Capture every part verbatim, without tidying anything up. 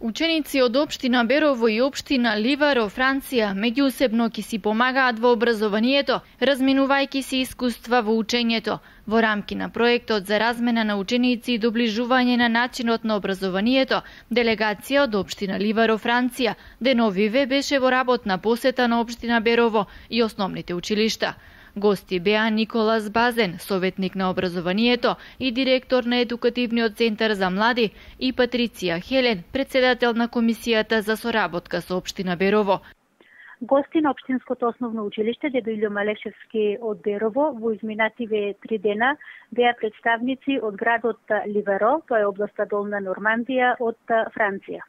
Ученици од општина Берово и општина Ливаро, Франција, меѓусебно ќе си помагаат во образованието, разменувајќи си искуства во учењето. Во рамки на проектот за размена на ученици и доближување на начинот на образованието, делегација од општина Ливаро, Франција, деновиве беше во работна посета на општина Берово и основните училишта. Гости беа Николас Базен, советник на образованието и директор на Едукативниот центар за млади, и Патриција Хелен, председател на комисијата за соработка со општина Берово. Гости на општинското основно училиште Дедо Илјо Малешевски од Берово во изминативе три дена беа представници од градот Ливаро, тоа е областа Долна Нормандија од Франција.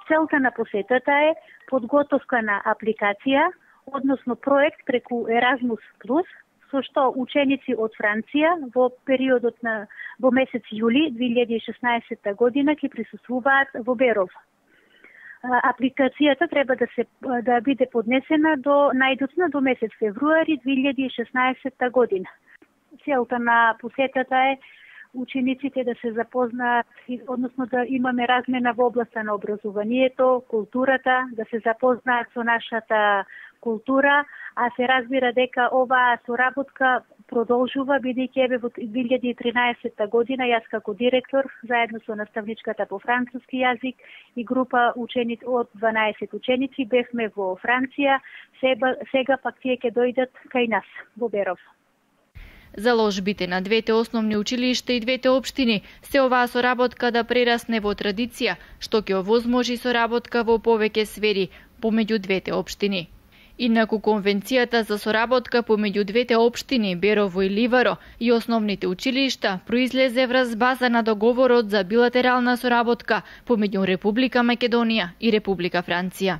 Целта на посетата е подготовка на апликација, односно проект преку Еразмус плюс, со што ученици од Франција во периодот на во месец јули две илјади и шеснаесетта година ќе присуствуваат во Берово. Апликацијата треба да се да биде поднесена до најдоцна до месец февруари две илјади и шеснаесетта година. Целта на посетата е учениците да се запознаат, односно да имаме размена во областа на образованието, културата, да се запознаат со нашата култура, а се разбира дека оваа соработка продолжува, бидејќи еве во две илјади и тринаесетта година јас како директор заедно со наставничката по француски јазик и група ученици од дванаесет ученици бевме во Франција, сега, сега пак тие ќе дојдат кај нас во Берово. Заложбите на двете основни училишта и двете општини се оваа соработка да прерасне во традиција, што ќе овозможи соработка во повеќе сфери помеѓу двете општини. Инаку конвенцијата за соработка помеѓу двете општини Берово и Ливаро и основните училишта произлезе врз база на договорот за билатерална соработка помеѓу Република Македонија и Република Франција.